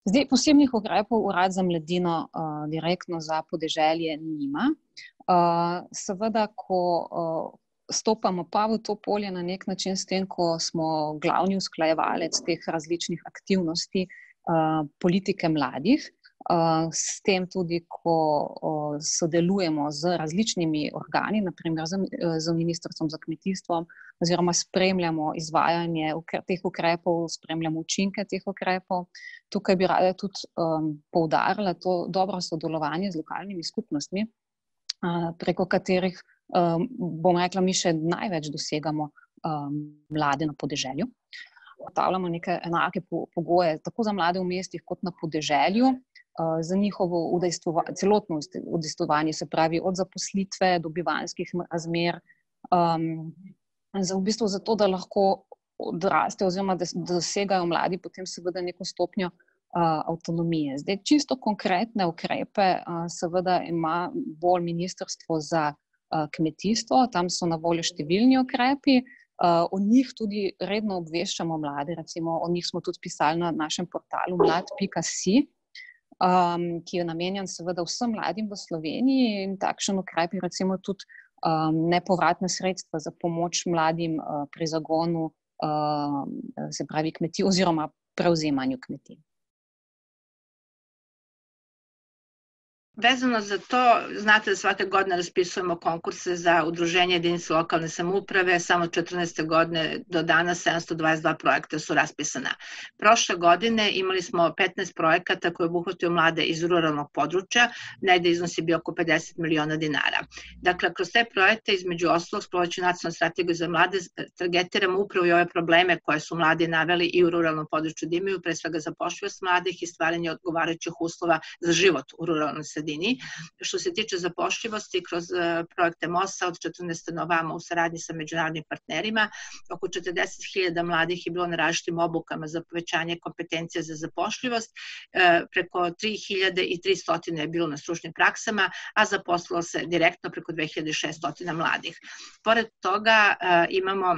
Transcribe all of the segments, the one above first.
Zdaj, posebnih ukrepov Urad za mladino direktno za podeželje nima. Seveda, ko stopamo pa v to polje na nek način s tem, ko smo glavni usklajevalec teh različnih aktivnosti politike mladih, s tem tudi, ko sodelujemo z različnimi organi, naprimer z Ministrstvom za kmetijstvo, oziroma spremljamo izvajanje teh ukrepov, spremljamo učinke teh ukrepov. Tukaj bi rada tudi poudarila to dobro sodelovanje z lokalnimi skupnostmi, preko katerih, bom rekla, mi še največ dosegamo mlade na podeželju. Ugotavljamo neke enake pogoje, tako za mlade v mestih kot na podeželju, za njihovo celotno udejstvovanje, se pravi od zaposlitve do bivanjskih razmer, v bistvu zato, da lahko odraste oziroma da dosegajo mladi potem seveda neko stopnjo avtonomije. Zdaj, čisto konkretne ukrepe seveda ima bolj Ministrstvo za kmetijstvo, tam so na voljo številni ukrepi, o njih tudi redno obveščamo mlade, recimo o njih smo tudi pisali na našem portalu mlad.si, ki je namenjen seveda vsem mladim v Sloveniji, in takšen ukrep je recimo tudi nepovratna sredstva za pomoč mladim pri zagonu, se pravi kmetij oziroma prevzemanju kmetij. Vezano za to, znate da svake godine raspisujemo konkurse za udruženje jedinica lokalne samouprave, samo 14. godine do danas 722 projekta su raspisana. Prošle godine imali smo 15 projekata koji obuhvataju mlade iz ruralnog područja, negde iznos je bio oko 50 miliona dinara. Dakle, kroz te projekte, između ostalog, sprovodeći nacionalnu strategiju za mlade, targetiramo upravo i ove probleme koje su mladi naveli i u ruralnom području da imaju, pre svega zapošljivost mladih i stvaranje odgovarajućih uslova za život u ruralnoj sredini. Što se tiče zapošljivosti, kroz projekte MOS-a od 14. na ovamo u saradnji sa međunarodnim partnerima, oko 40.000 mladih je bilo na različitim obukama za povećanje kompetencija za zapošljivost, preko 3.300 je bilo na stručnim praksama, a zaposlilo se direktno preko 2.600 mladih. Pored toga imamo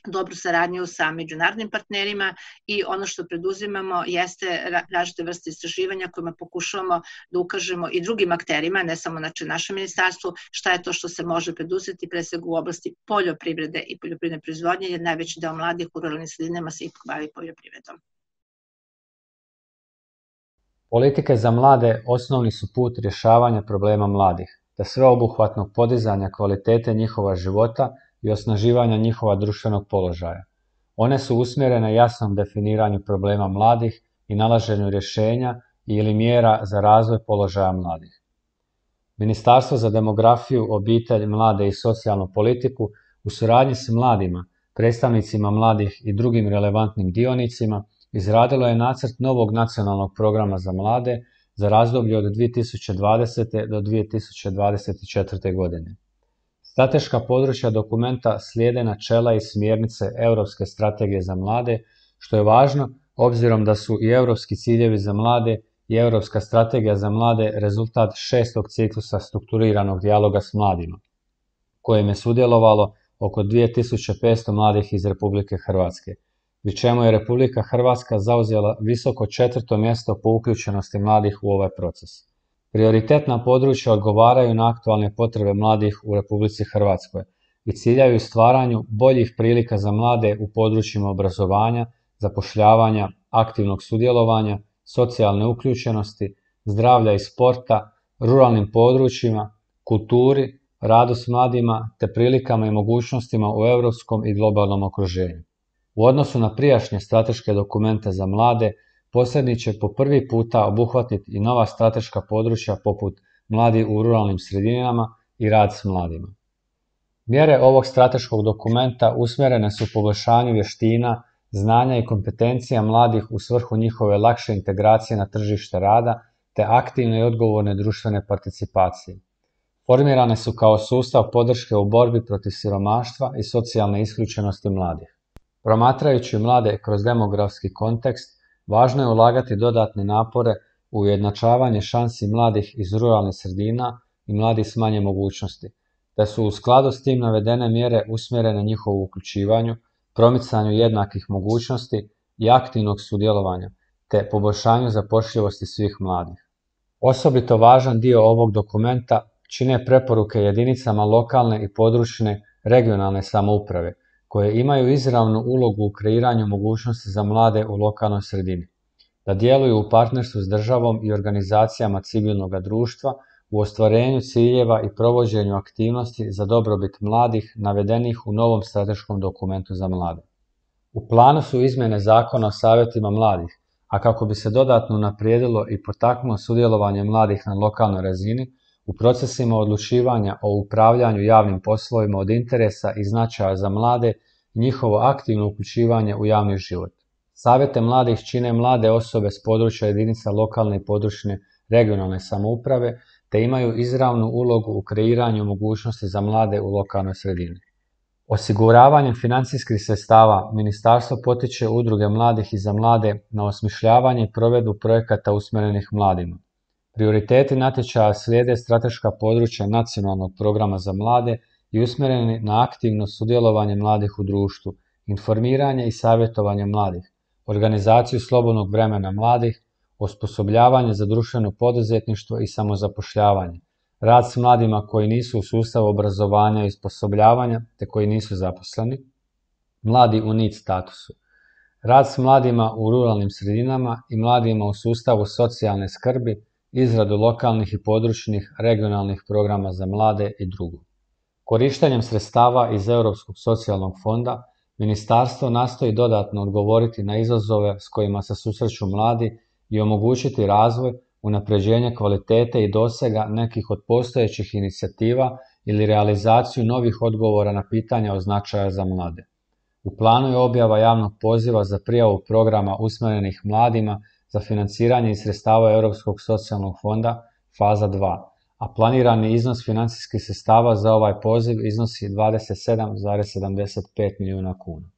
dobru saradnju sa međunarodnim partnerima i ono što preduzimamo jeste različite vrste istraživanja kojima pokušavamo da ukažemo i drugim akterima, ne samo našem ministarstvu, šta je to što se može preduzeti, pre svega u oblasti poljoprivrede i poljoprivredne proizvodnje, jer najveći deo mladih u ruralnim sredinama se ipak bavi poljoprivredom. Politike za mlade osnovni su put rješavanja problema mladih, te sveobuhvatnog podizanja kvalitete njihova života i osnaživanja njihova društvenog položaja. One su usmjerene jasnom definiranju problema mladih i nalaženju rješenja ili mjera za razvoj položaja mladih. Ministarstvo za demografiju, obitelj, mlade i socijalnu politiku u suradnji s mladima, predstavnicima mladih i drugim relevantnim dionicima izradilo je nacrt novog nacionalnog programa za mlade za razdoblje od 2020. do 2024. godine. Strateška područja dokumenta slijede načela i smjernice Europske strategije za mlade, što je važno obzirom da su i europski ciljevi za mlade i Europska strategija za mlade rezultat 6. ciklusa strukturiranog dijaloga s mladima, kojem je sudjelovalo oko 2500 mladih iz Republike Hrvatske, pri čemu je Republika Hrvatska zauzela visoko 4. mjesto po uključenosti mladih u ovaj proces. Prioritetna područja odgovaraju na aktualne potrebe mladih u Republici Hrvatskoj i ciljaju stvaranju boljih prilika za mlade u područjima obrazovanja, zapošljavanja, aktivnog sudjelovanja, socijalne uključenosti, zdravlja i sporta, ruralnim područjima, kulturi, radu s mladima te prilikama i mogućnostima u europskom i globalnom okruženju. U odnosu na prijašnje strateške dokumente za mlade, posljednji će po prvi puta obuhvatiti i nova strateška područja poput mladi u ruralnim sredinama i rad s mladima. Mjere ovog strateškog dokumenta usmjerene su poboljšanju vještina, znanja i kompetencija mladih u svrhu njihove lakše integracije na tržište rada te aktivne i odgovorne društvene participacije. Formirane su kao sustav podrške u borbi protiv siromaštva i socijalne isključenosti mladih. Promatrajući mlade kroz demografski kontekst, važno je ulagati dodatne napore u ujednačavanje šansi mladih iz ruralnih sredina i mladih s manje mogućnosti, te su u skladu s tim navedene mjere usmjerene njihovu uključivanju, promicanju jednakih mogućnosti i aktivnog sudjelovanja, te poboljšanju zapošljivosti svih mladih. Osobito važan dio ovog dokumenta čine preporuke jedinicama lokalne i područne regionalne samouprave, koje imaju izravnu ulogu u kreiranju mogućnosti za mlade u lokalnoj sredini, da djeluju u partnerstvu s državom i organizacijama civilnog društva u ostvarenju ciljeva i provođenju aktivnosti za dobrobit mladih navedenih u novom strateškom dokumentu za mlade. U planu su izmjene Zakona o savjetima mladih, a kako bi se dodatno unaprijedilo i potaknulo sudjelovanje mladih na lokalnoj razini u procesima odlučivanja o upravljanju javnim poslovima od interesa i značaja za mlade i njihovo aktivno uključivanje u javni život. Savjete mladih čine mlade osobe s područja jedinica lokalne i područne regionalne samouprave, te imaju izravnu ulogu u kreiranju mogućnosti za mlade u lokalnoj sredini. Osiguravanjem financijskih sredstava Ministarstvo potiče udruge mladih i za mlade na osmišljavanje i provedbu projekata usmjerenih mladima. Prioriteti natječaja slijede strateška područja nacionalnog programa za mlade i usmjereni na aktivno sudjelovanje mladih u društvu, informiranje i savjetovanje mladih, organizaciju slobodnog vremena mladih, osposobljavanje za društveno poduzetništvo i samozapošljavanje, rad s mladima koji nisu u sustavu obrazovanja i osposobljavanja te koji nisu zaposleni, mladi u NEET statusu, rad s mladima u ruralnim sredinama i mladima u sustavu socijalne skrbi, izradu lokalnih i područnih regionalnih programa za mlade i drugo. Korištenjem sredstava iz Europskog socijalnog fonda, Ministarstvo nastoji dodatno odgovoriti na izazove s kojima se susreću mladi i omogućiti razvoj, unapređenje kvalitete i dosega nekih od postojećih inicijativa ili realizaciju novih odgovora na pitanja od značaja za mlade. U planu je objava javnog poziva za prijavu programa usmjerenih mladima za financiranje iz sredstava Europskog socijalnog fonda faza 2, a planirani iznos financijskih sredstava za ovaj poziv iznosi 27,75 milijuna kuna.